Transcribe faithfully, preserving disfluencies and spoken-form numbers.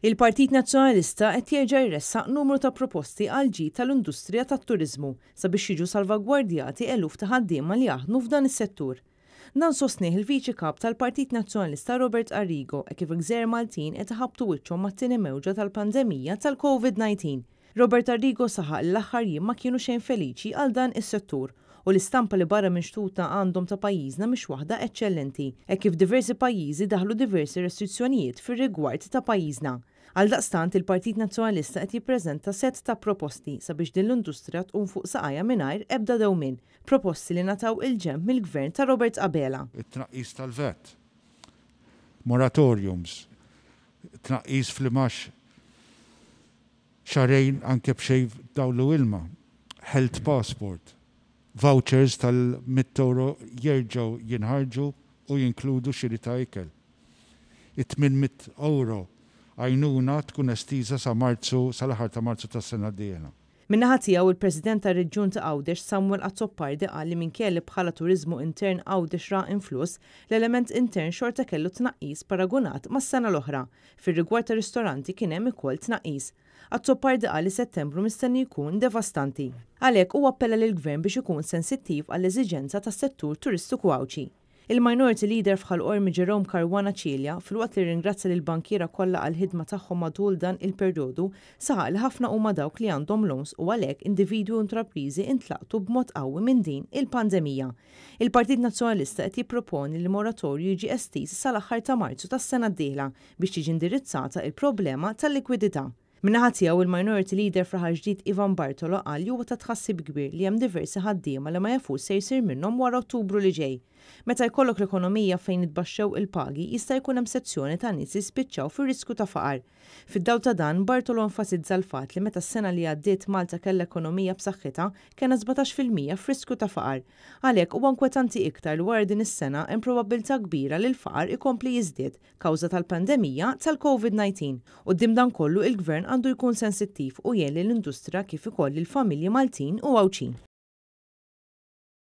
Il-Partit Nazzjonalista qed jerġa' jressaq numru ta' proposti għall-ġid tal-industrija tat-turiżmu sabiex jiġu salvagwardjati eluf ta' ħaddiema li jaħdmu f'dan is-settur. Dan sostnieh il-Viċi Kap tal-Partit Nazzjonalista Robert Arrigo e kif gżejjer Maltin qed iħabbtu wiċċhom mat-tieni mewġa tal-pandemija tal-Covid nineteen. Robert Arrigo saħaq li l-aħħar jiem ma kienu xejn feliċi għal dan is-settur u l-istampa li barra minn xtutna għandhom ta' pajjiżna mhix waħda eċċellenti, hekk kif diversi pajjiżi daħlu diversi restrizzjonijiet fir-rigward ta' pajjiżna. Għaldaqstant il-Partit Nazzjonalista qed jippreżenta sett ta' proposti sabiex din l-industrija tqum fuq saqajha mingħajr ebda dewmien, proposti li ngħataw il-ġenb mill-gvern ta' Robert Abela. It-tnaqqis tal-V A T, moratoriums, tnaqqis fl-imax xahrejn anke b'xejn dawlu ilma, health passport, vouchers tal-mitt euro jerġgħu jinħarġu u jinkludu xiri ta' ikel. It-tmien mitt euro għajnuna tkun estiża sa Marzu, sal-aħħar ta' Marzu tas-sena d-dieħla. Min-naħa tiegħu il-President tar-Reġjun ta' Għawdex Samuel Azzopardi qal li minkejja li bħala turiżmu intern Għawdex ra influss, l-element intern xorta kellu tnaqqis paragunat mas-sena l-oħra. Fir-rigward ta' ristoranti kien hemm ukoll tnaqqis. Azzopardi qal li Settembru mistenni jkun devastanti. Għalhekk huwa appella lill-Gvern biex ikun sensittiv għall-eżiġenza tas-settur turistiku Għawdxi. Il-Minority Leader f'Ħal Qormi Jerome Caruana Cilia, filwaqt li ringrazzja lill-bankiera kollha għall-ħidma tagħhom matul dan il-perjodu, saħaq li ħafna huma dawk li għandhom loans u għalhekk individwi u intrapriżi intlaqtu b'mod qawwi minn din il-pandemija. Il-Partit Nazzjonalista qed jipproponi li moratorju jiġi estiż sal-aħħar ta' Marzu tas-sena d-dieħla biex tiġi indirizzata il-problema tal-likwidità. Min-naħa tiegħu il-Minority Leader f'Raħal Ġdid Ivan Bartolo qal li huwa ta' tħassib kbir li hemm diversi ħaddiema li ma jafux se jsir minnhom wara Ottubru li ġej. Meta jkollok l-ekonomija fejn itbaxxew il-pagi, jista' jkun hemm sezzjoni ta' nies li spiċċaw fir-riskju ta' faqar. Fid-dawl ta' dan, Bartolo enfasizza l-fatt li meta s-sena li għaddiet Malta kellha ekonomija b'saħħitha, kellna sbatax fil-mija f'riskju ta' faqar. Għalhekk huwa inkwetanti iktar li wara din is-sena hemm probabbiltà kbira li l-faqar ikompli jiżdied kawża tal-pandemija tal-Covid nineteen. Quddiem dan kollu il-Gvern għandu jkun sensittiv u jgħin lill-industrija kif ukoll lill-familji Maltin u Għawdxin.